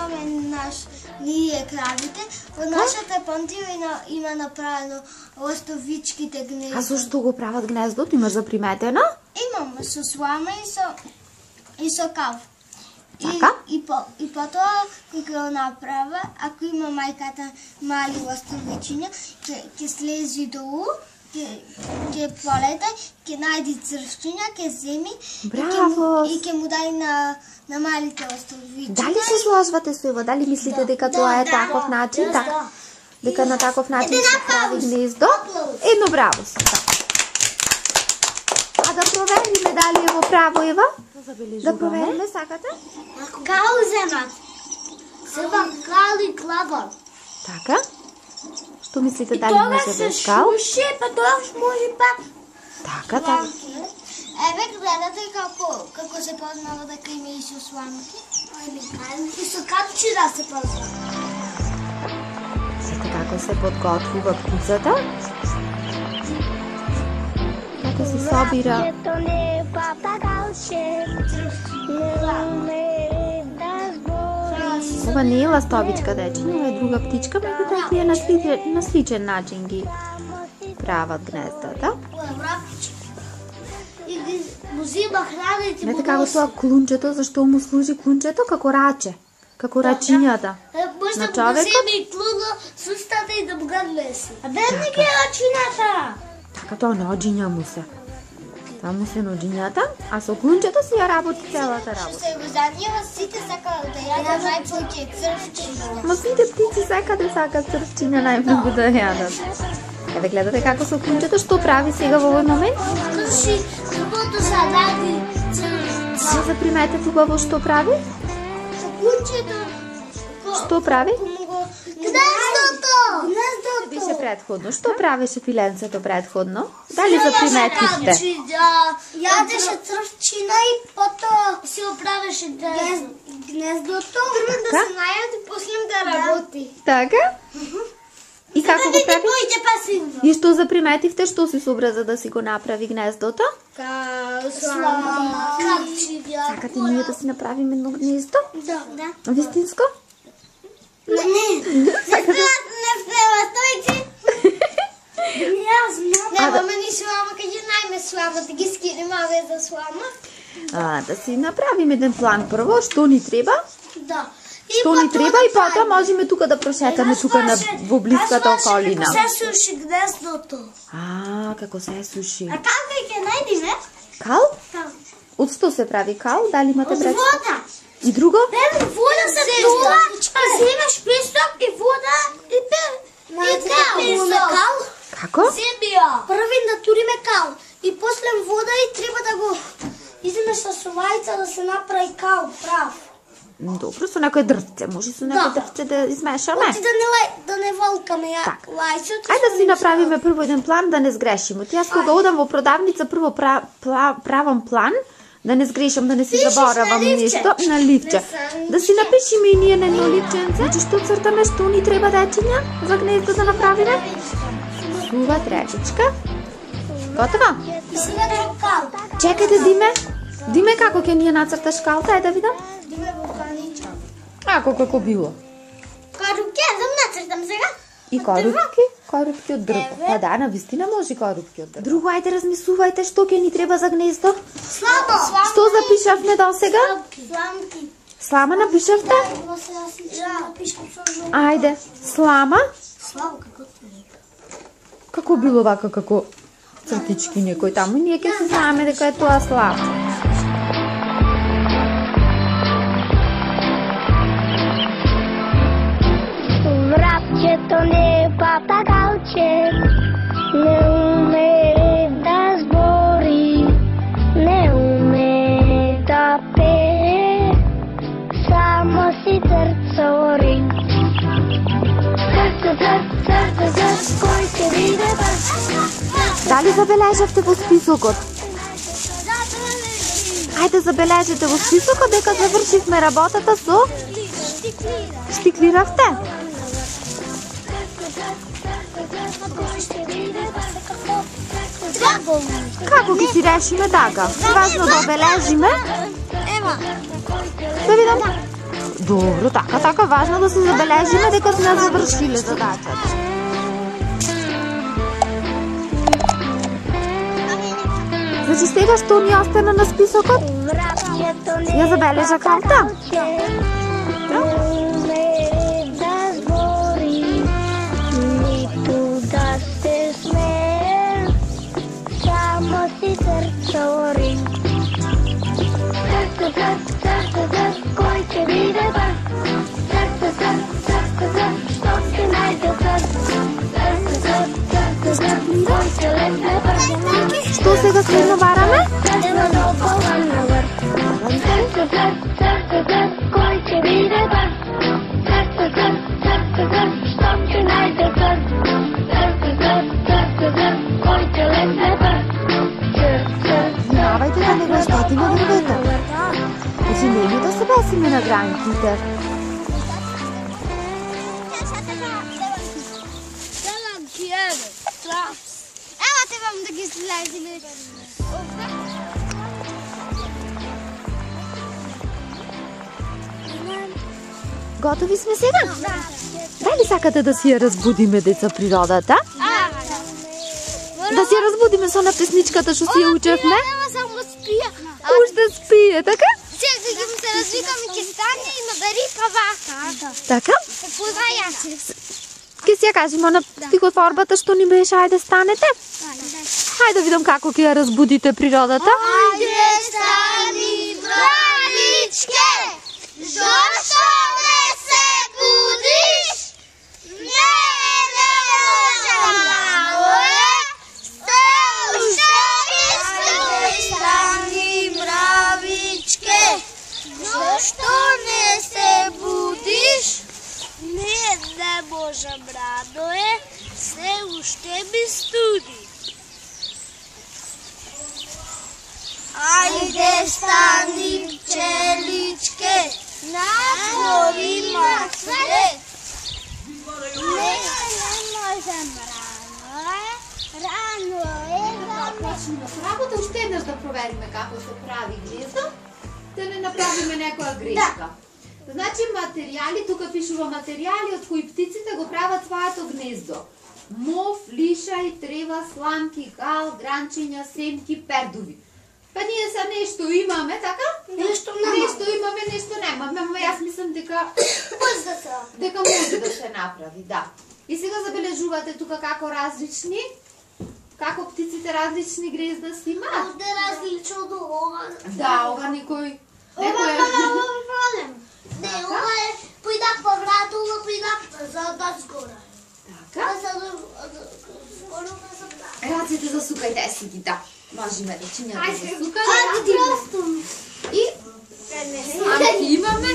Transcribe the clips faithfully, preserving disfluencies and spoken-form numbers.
имаме наш ние кравите. Во нашата понтија има направено ластовичките гнездо. А зашто го прават гнездото? Имаш заприметено? Имам со слама и со и со кав. Така? И, и, по, и потоа, кога го направа, ако има мајката мали ластовичиња, ќе ќе слези долу, ќе ќе полета, ќе најди црвчиња, ќе земи Браво! и ќе му дај на на малите ластовичиња. Дали се сложвате со Ива? Дали мислите да, дека тоа е да, таков начин? Да, така. Дека на таков начин се прави гнездо? Едно браво си. А да провериме дали е во право, Ева? Да провериме, сакате? Кал земат. Себа кал и клава. Така? Што мислите дали може без кал? И се па тоа може пак. Така, така. Еве гледате како како се познава дека има и со сламки. И со капчина се познава. Сите како се подготвува птицата? Како се собира? Ова не е ластовичка, дечиња, ова е друга птичка, меѓутоа тие на сличен, на сличен начин ги прават гнездата. И ги му зима храна и ти Не така го тоа клунчето, зашто му служи клунчето како раче, како рачињата на човекот. Може да му зиме и клуно с устата и да му го леси. А бе не ги рачињата? Така тоа наоѓиња му се. Тоа му се наоѓињата, а со клунчето си ја работи целата работа. Се го занива, сите сакаат да јадат најповеќе црвчиња. Ма сите птици сакаат да сакаат црвчиња најмногу да јадат. Еве гледате како со клунчето што прави сега во овој момент? Крши зубото за ради црвчиња. Не заприметете убаво што прави? Клунчето. Што прави? Гнездото! Гнездото! Беше предходно. Што правеше пиленцето предходно? Дали заприметивте? Јадеше црвчина и потоа си оправеше гнездото. Прво да се најаде, после да работи. Така? И како го прави? Појде пасивно. И што заприметивте, што си собра да си го направи гнездото? Ка слама, капчиња. Сакате ние да си направиме едно гнездо? Да, да. Вистинско? Не, не. Не впева, стојчи. Јас знам. Не, мама ни слама, кај најме слама, да ги скинеме овие за слама. А, да си направиме еден план прво, што ни треба? Да. Што ни треба и потоа можеме тука да прошетаме тука на во блиската околина. Како се суши гнездото. А, како се суши. А како ќе најдеме? Кал? Кал. Од што се прави кал? Дали имате Од представа? вода. И друго? Бе, вода се тоа, земеш песок и вода и бе. И кал. Како? Земја. Први да туриме кал и после вода и треба да го иземеш со сувајца да се направи кал прав. Добро, со некој дрвце, може со некој дрвце да измешаме. Оти да не лај, да не волкаме ја лајцето. Ајде да си направиме прво еден план да не сгрешиме. Јас кога одам во продавница прво пра, пла, правам план да не сгрешам, да не си заборавам нешто на ливче. Да си напишеме и ние на едно ливченце, значи што цртаме, што ни треба дечиња за гнездо да направиме. Сува трепичка. Готова? И сега да кал. Чекајте, Диме. Диме, како ќе ни ја нацрташ калта, е да видам? Диме во паничка. Ако како било? Корупке, да нацртам сега. И корупки? Корупки од дрво. Па да, на вистина може корупки од дрво. Друго, ајде размислувајте што ќе ни треба за гнездо. Слама. Што запишавме до сега? Сламки. Слама напишавте? Да, напишам со жо. Ајде, слама. Слава како Како било вака, како цртички некој таму, ние ќе се знаеме дека е тоа слама. Врапчето не е папагалче, не уме да збори, не уме да пее, само си црцори. Црц, црц, црц, црц, кој ќе биде прв? Дали забележавте во списокот? Ајде забележите во списокот дека завршивме работата со штиклиравте. Како ќе си решиме така? Важно да обележиме. Ева. Да видам. Добро, така, така, важно да се забележиме дека сме завршиле задачата. Значи сега што ни остана на списокот? Ја забележа карта. Што сега следно бараме? Внимавајте да не го штетиме дрвето. Значи нели да се бесиме на границите. Ева те вам да ги слезиме. Готови сме сега? Дали сакате да си ја разбудиме, деца, природата? Да си ја разбудиме со на песничката што си ја учевме? Ева само спија. Уште спие, така? Сега ќе му се развикам и ќе стане и ме бери па вака. Така? Позна јаче. Ке си ја кажемо на стихотворбата што ни беше, ајде станете. Хајде да видам како ќе ја разбудите природата. Ајде стани, мравичке, зошто не се будиш? Не, не можам, мравоје, сте уште ми стои. Стани, мравичке, зошто не се будиш? Не, не можам, Радое, се уште ми студи. Ајде стани, пчеличке, надвор има цвет. Не, не можам, рано е, рано е, Почнеме со работа, уште еднаш да провериме како се прави гнездо, да не направиме некоја грешка. Значи материјали, тука пишува материјали од кои птиците го прават своето гнездо. Мов, лишај, трева, сламки, гал, гранчиња, семки, пердуви. Па ние са нешто имаме, така? Нешто немаме. Нешто имаме, нешто немаме, ама јас мислам дека Може да се. дека може да се направи, да. И сега забележувате тука како различни, како птиците различни гнезда си имаат. Овде различно од ова. Да, ова никој Ова некој е проблем. Не, Така? ова е појдак по врата, ова појдак за да згора. така. А за да згора за да. Раците засукајте си ги, да. Можеме да чинјате засукање. Ајде ти простом. И сламки имаме.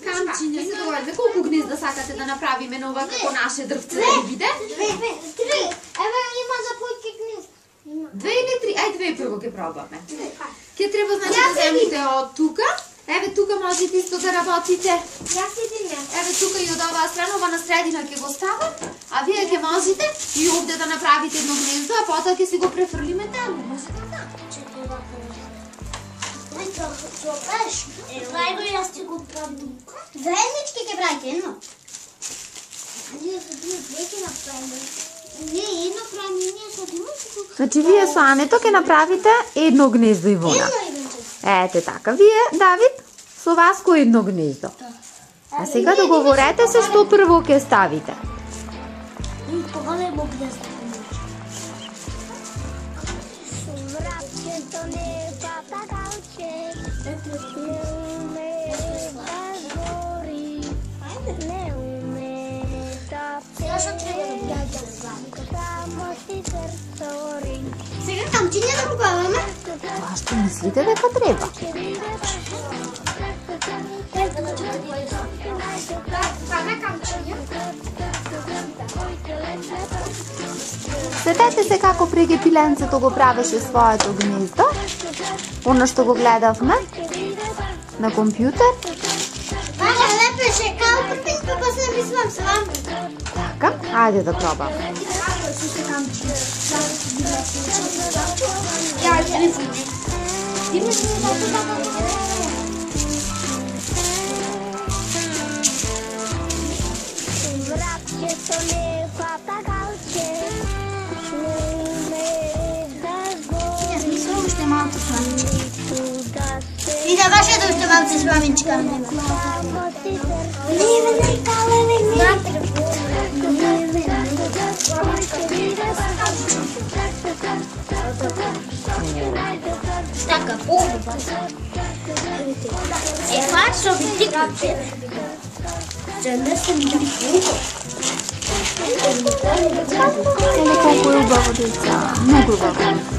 Камчиња, се договараме. Колку гнезда сакате да направиме на ова како наше дрвце да ги биде? Две, две, три. Еве има за појки гнезда. Има. Две или три? Ај, две прво ќе пробаме. Ке треба значи да земите од тука. Еве тука можете исто да работите. Јас идем јас. Еве тука и од оваа страна, ова на средина ќе го ставам, а вие ќе можете и овде да направите едно гнездо, а потоа ќе си го префрлиме таму. Може така? Чекај вака. Ой, тоа тоа пеш. Прај го јас ти го правам. Заеднички ќе правите едно. Ние со две две ќе направиме. Не, едно правиме ние со две. Значи вие со Ането ќе направите едно гнездо, Ивона. Едно едно. Ете така. Вие, Давид, со Васко едно гнездо. А сега договорете се што прво ќе ставите. Поголемо гнездо. Мрачето не папагалче, не уме да збори, не уме да Сега што треба да ги само си срцори. Сега камчиња да пробаваме. Тоа што мислите дека треба? Паме камчиња. Сетете се како преги пиленцето го правеше своето гнездо, оно што го гледавме на компјутер. Паме лепеше калка пис, па после мислам сламка. Така, ајде да пробаме. Ја ќе не ти ме дойте малце с мамичка. Леве, не, калеве, не. Така, по-убава. Е, фаршо би ти капче. Жена съм да по-убава. Колко е убаво деца, много убаво.